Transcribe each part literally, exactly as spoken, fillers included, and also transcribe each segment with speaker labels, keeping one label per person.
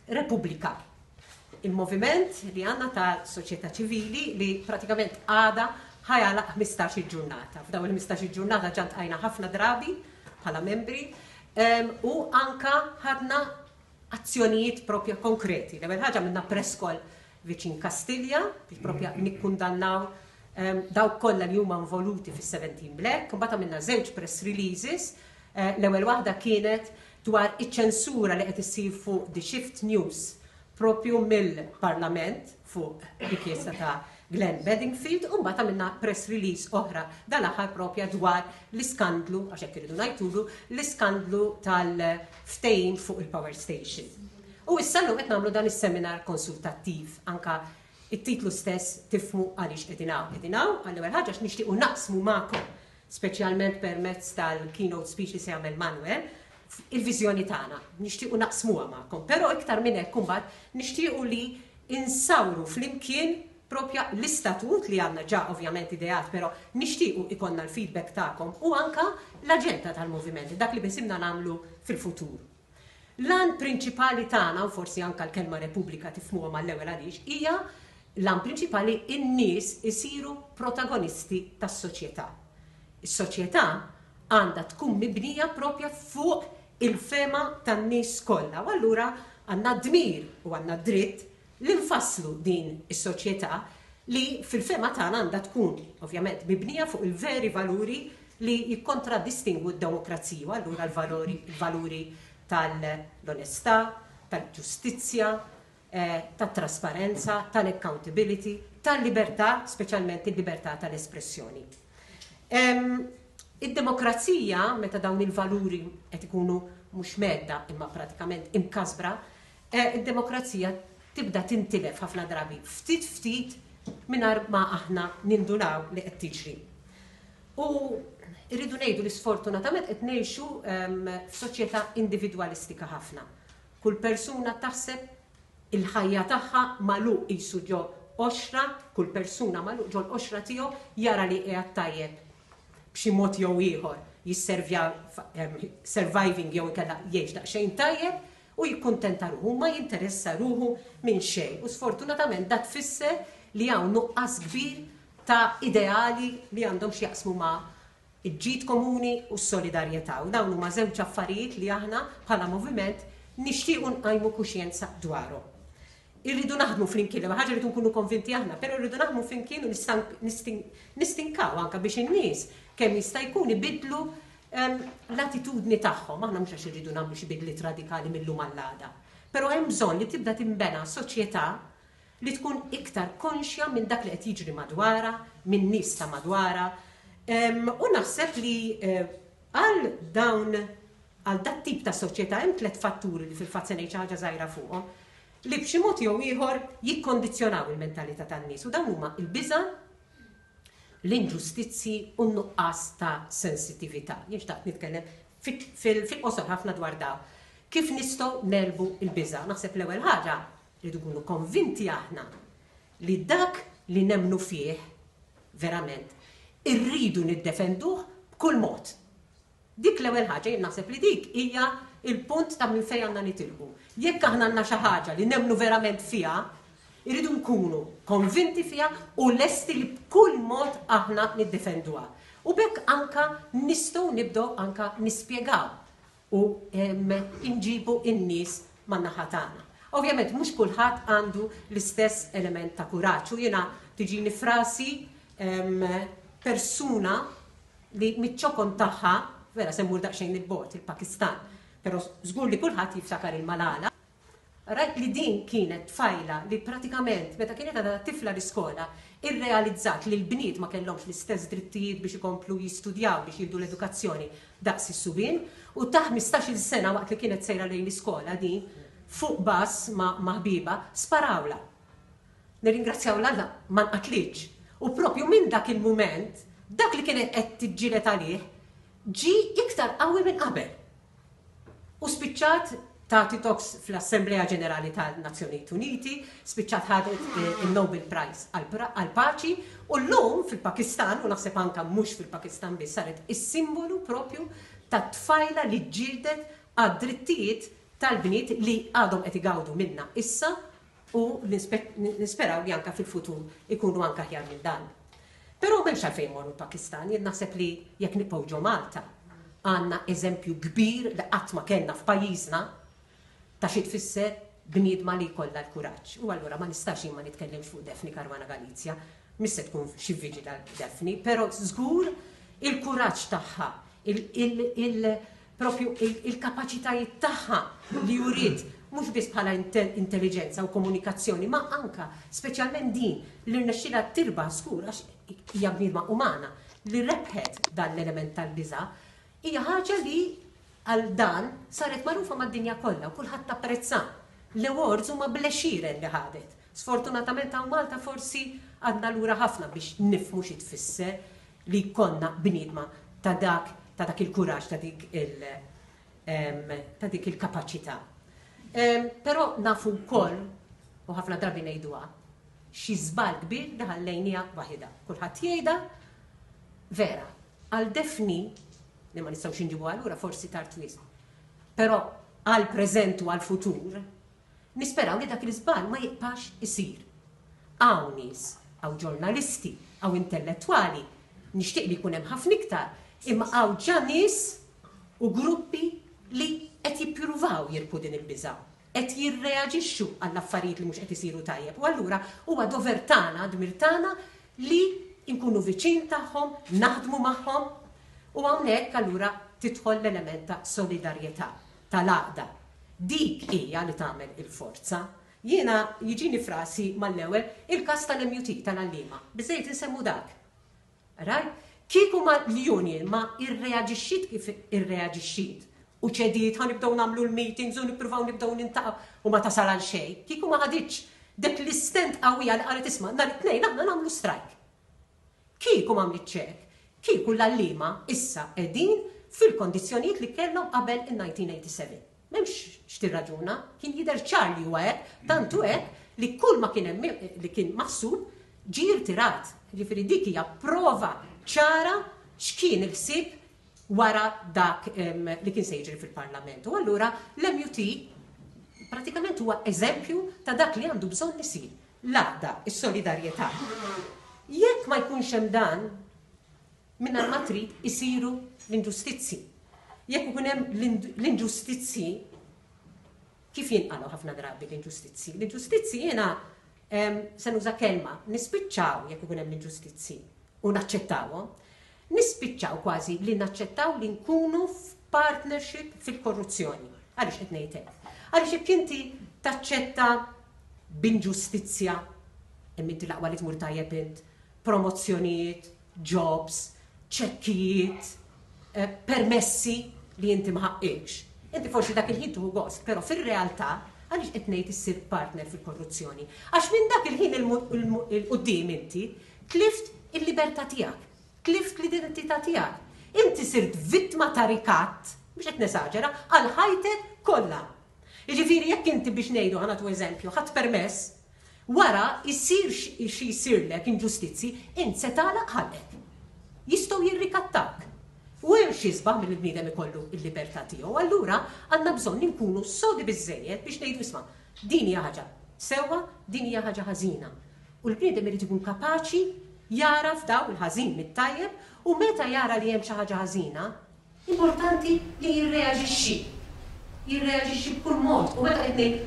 Speaker 1: Repubblika. Il-moviment li għandna ta' soċjetà ċivili li pratikament għada ħa jagħlaq ħmistax-il ġurnata. F'dawn il-ħmistax-il ġurnata ġa ltqajna ħafna drabi bħala membri u anka ħadna azzjonijiet propja konkreti. L-ewwel ħaġa, għamilna press call viċin Kastilja biex propja nikkundannaw dawk kollha li huma involuti fis-seventeen Black. Mbagħad għamilna żewġ press releases. Eh, l-ewwel waħda kienet dwar iċ-ċensura li qed issir fuq The Shift News propju mill-Parlament fuq rikjesta ta' Glenn Bedingfield, u mbagħad għamilna press release oħra dal-aħħar propja dwar l-iskandlu, għax hekk iridu ngħidulu, l-iskandlu tal-ftehim fuq il-power station. U issa llum qed nagħmlu dan is-seminar konsultattiv. Anka it-titlu stess tifhmu għaliex qegħdin hawn. Qegħdin hawn għall-ewwel ħaġa għax nixtiequ naqsmu magħkom, speċjalment permezz tal-keynote speech li se jagħmel Manuel, il-viżjoni tagħna. Nixtiequ naqsmuha magħkom, però iktar minn hekk imbagħad nixtiequ li insawru flimkien propja l-istatut li għandna ġa ovvjament ideat, però nixtiequ ikollna l-feedback tagħkom u anka l-aġenda tal-moviment, dak li beħsiebna nagħmlu fil-futur. L-għan prinċipali tagħna, u forsi anka l-kelma Repubblika tifhmuha mal-ewwel għaliex, hija l-għan prinċipali in-nies isiru protagonisti tas-soċjetà. Is-soċjetà għandha tkun mibnija propja fuq il-fehma tan-nies kollha. U allura għandna dmir u għandna dritt li nfasslu din is-soċjetà li fil-fehma tagħna għandha tkun ovvjament mibnija fuq il-veri valuri li jikkontradistingwu d-demokrazija, u allura l-valuri, il-valuri tal-onestà, tal-ġustizzja, eh, tat-trasparenza, tal-accountability, tal-libertà, speċjalment il-libertà tal-espressjoni. Id-demokrazija, meta dawn il-valuri qed ikunu mhux mhedda imma pratikament imkasbra, eh, id-demokrazija tibda tintilef ħafna drabi ftit ftit mingħajr ma aħna nindunaw li qed tiġri. U rridu ngħidu li sfortunatament qed ngħixu f'soċjetà individwalistika ħafna. Kull persuna taħseb il-ħajja tagħha magħluq qisu ġo qoxra, kull persuna magħluq ġo l-qoxra tiegħu, jara li qiegħed tajjeb b'xi mod jew ieħor, jisservja surviving jew inkella jgħix daqsxejn tajjeb u jikkuntenta ruħu, ma jinteressa ruħu minn xejn. U sfortunatament dat tfisser li hawn nuqqas kbir ta' ideali li għandhom x'jaqsmu ma' il-ġid komuni u s-solidarjetà. U dawn huma żewġ affarijiet li aħna bħala moviment nixtiequ nqajmu kuxjenza dwarhom. Irridu naħdmu flimkien, li ħaġa rridu nkunu konvinti aħna, però rridu naħdmu flimkien u nistinkaw anka biex in-nies kemm jista' jkun ibidlu l-attitudni tagħhom. Aħna mhux għax irridu nagħmlu xi bidliet radikali mill-lum għall-għada. Però hemm bżonn li tibda tinbena soċjetà li tkun iktar konxja minn dak li qed jiġri madwarha, minn nies ta' madwarha. U naħseb li eh, għal dawn għal dat tip ta' soċjetà hemm tliet fatturi li fil-fatt se ngħid xi ħaġa żgħira fuqhom li b'xi mod jew ieħor jikkondizzjonaw il-mentalità tan-nies, u dawn huma il-biża', l-inġustizzi u n-nuqqas ta' sensitività. Jien xtaqt nitkellem fil-qosor ħafna dwar dawn. Kif nistgħu negħlbu il-biża'? Naħseb l-ewwel ħaġa rridu nkunu konvinti aħna li dak li nemmnu fih verament irridu niddefenduh b'kull mod. Dik l-ewwel ħaġa, jien naħseb li dik hija il-punt ta' minn fejn għandna nitilqu. Jekk aħna għandna xi ħaġa li nemmnu verament fiha, irridu nkunu konvinti fiha u lesti li b'kull mod aħna niddefenduha. U b'hekk anka nistgħu nibdew anka nispjegaw u inġibu in-nies man-naħa tagħna. Ovvjament mhux kulħadd għandu l-istess element ta' kuraġġ u jiena tiġini f'rasi persuna li miċ-ċokon tagħha, vera se mmur daqsxejn il-bogħod, il-Pakistan, però żgur li kulħadd jiftakar il-Malala. Rajt li din kienet tfajla li pratikament meta kienet għadha tifla l-iskola irrealizzat li l-bniet ma kellhomx l-istess drittijiet biex ikomplu jistudjaw, biex jieħdu l-edukazzjoni daqs is-subien, u ta' ħmistax-il sena, waqt li kienet sejra lejn l-iskola din fuq bus ma' ħbiebha, sparawla. Nirringrazzjaw l-Alla ma nqatlitx. U propju minn dak il-mument, dak li kienet qed tiġġieled għalih ġi iktar qawwi minn qabel. U spiċċat tagħti talks fl-Assemblea Ġenerali tal-Nazzjonijiet Uniti, spiċċat ħadet eh, il-Nobel Prize għal-paċi u llum fil-Pakistan, u naħseb anka mhux fil-Pakistan biss, saret is-simbolu propju ta' tfajla li ġġieldet għad-drittijiet tal-bniet li għadhom qed igawdu minna issa u nisperaw li anka fil-futur ikunu anka aħjar minn dan. Però m'hemmx għalfejn morru l-Pakistan, jien naħseb li jekk nibqgħu ġo Malta għandna eżempju kbir li qatt ma kellna f'pajjiżna ta' xi tfisser bniedma li jkollha l-kuraġġ. U allura ma nistax jien ma nitkellimx fuq Daphne Caruana Galizia, mhix se tkun xi viġila Daphne, però żgur il-kuraġġ tagħha, propju il-kapaċitajiet tagħha li uriet mhux biss bħala intelligenza u komunikazzjoni, ma anka speċjalment din li rnexxilha tirbaħ, żgur għax hija bniedma umana, li rebħet dan l-element tal-biża', hija ħaġa li għal dan saret magħrufa mad-dinja kollha u kulħadd apprezza. L-awards huma bl-għexieren li ħadet. Sfortunatament hawn Malta forsi għadna lura ħafna biex nifhmu xi tfisser li jkollna bniedma ta' dak ta' dak il-kuraġġ, ta' dik il ta' dik il-kapaċità. Però nafu wkoll, u ħafna drabi ngħiduha, xi żball kbir li ħallejniha waħidha. Kulħadd jgħidha, vera, għal Daphne li ma nistgħux inġibu allura forsi tard wisq. Però għal preżent u għal futur, nisperaw li dak l-iżball ma jibqax isir. Hawn nies, hawn ġurnalisti, hawn intellettwali, nixtieq li jkun hemm ħafna iktar, imma hawn ġa nies u gruppi li qed jippruvaw jirbħu din il-biża', qed jirreaġixxu għall affarijiet li mhux qed isiru tajjeb. U allura huwa dover tagħna, dmir tagħna li nkunu viċin tagħhom, naħdmu magħhom, u hawnhekk allura tidħol l-element ta' solidarjetà, tal-għaqda. Dik hija li tagħmel il-forza. Jiena jiġini f'rasi mal-ewwel il-każ tal-M U T tal-għalliema. Biżejjed insemmu dak. Rajt? Kieku ma l-union ma irreaġixxiet kif irreaġixxiet u ċediet, ħa nibdew nagħmlu l-meetings u nippruvaw nibdew niltaqgħu u ma tasal għal xejn. Kieku ma ħaditx dak l-istand qawwija li qalet, "Isma', nhar it-Tnejn aħna nagħmlu strike." Kieku ma għamlitx hekk, kieku l-għalliema issa qegħdin fil-kondizzjonijiet li kellhom qabel in-elf disa' mija u sebgħa u tmenin. M'hemmx x'tirraġuna, kien jidher ċar li huwa hekk, tantu hekk li kull ma kien hemm li kien maħsub ġie rtirat. Ġifieri dik hija prova ċara x'kien il-ħsieb wara dak em, li kien se jiġri fil-Parlament. U allura l-M U T pratikament huwa eżempju ta' dak li għandu bżonn isir. L-għaqda, is-solidarjetà. Jekk ma jkunx hemm dan, mingħajr ma trid isiru l-inġustizzi. Jekk ikun hemm l-inġustizzi, kif jinqalgħu ħafna drabi l-inġustizzi? L-inġustizzi jiena em, se nuża kelma, nispiċċaw jekk ikun hemm l-inġustizzi u naċċettawhom, nispiċċaw kważi li naċċettaw li nkunu f'partnership fil-korruzzjoni. Għaliex qed ngħid hekk? Għaliex jekk inti taċċetta b'inġustizzja, imma inti l-aqwa li tmur tajjeb int, promozzjonijiet, jobs, ċekkijiet, eh, permessi li inti ma ħaqqikx. Inti forsi dak il-ħin tieħu gost, però fir-realtà għaliex qed ngħid issir partner fil-korruzzjoni? Għax minn dak il-ħin 'il quddiem inti tlift il-libertà tiegħek, tlift l-identità tiegħek. Inti sirt vittma ta' rikatt, biex qed nesaġera, għal ħajtek kollha. Jiġifieri jekk inti, biex ngħidu, ħa nagħtu eżempju, ħadt permess, wara jsir xi jsirlek inġustizzi, int se tagħlaq ħalqek. Jistgħu jirrikattak. U hemm xi isbaħ mill-bniedem ikollu l-libertà tiegħu. Allura għandna bżonn inkunu sodi biżejjed biex ngħidu, "Isma', din hija ħaġa sewwa, din hija ħaġa ħażina." U l-bniedem irid ikun kapaċi jara f'daw il-ħażin mit-tajjeb u meta jara li hemm xi ħaġa ħażina, importanti li jirreaġixxi. Jirreaġixxi b'kull mod. U meta qed ngħid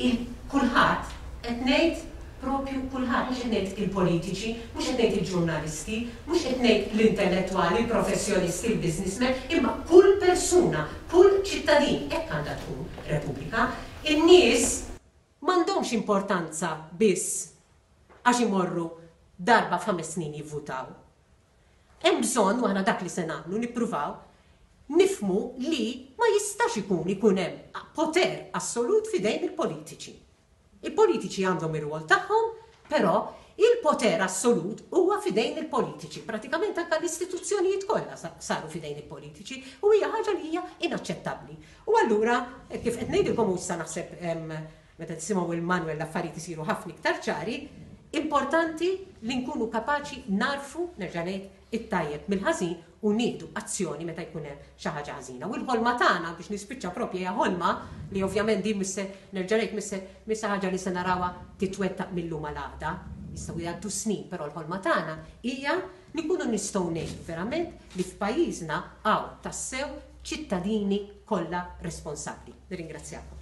Speaker 1: il-kulħadd, qed ngħid propju kulħadd, mhux qed ngħid il-politiċi, mhux qed ngħid il-ġurnalisti, mhux qed ngħid l-intellettwali, il-professjonisti, il-businessmen, imma kull persuna, kull ċittadin, hekk għandha tkun Repubblika. In-nies m'għandhomx importanza biss għax imorru darba f'ħames snin jivvutaw. Hemm bżonn, u aħna dak li se nagħmlu, nippruvaw nifhmu li ma jistax ikun ikun hemm poter assolut f'idejn il-politiċi. Il-politiċi għandhom ir-rwol tagħhom, però il-poter assolut huwa f'idejn il-politiċi. Pratikament anke l-istituzzjonijiet kollha saru f'idejn il-politiċi u hija ħaġa li hija inaċċettabbli. U allura, kif qed ngħidilkom, issa naħseb meta tisimgħu il-Manuel l-affarijiet isiru ħafna iktar ċari, importanti li nkunu kapaċi narfu, nerġa' ngħid, it-tajjeb mill-ħażin. u nieħdu azzjoni meta jkun hemm xi ħaġa ħażina. U l-ħolma tagħna, biex nispiċċa, proprja hija ħolma li ovvjament din mhux se nerġa' ngħid mhux se ħaġa li se narawha titwettaq mill-lum għal għada. Jistgħu jgħaddu snin, però l-ħolma tagħna hija li nkunu nistgħu ngħidu verament li f'pajjiżna hawn tassew ċittadini kollha responsabbli. Nirringrazzjakom.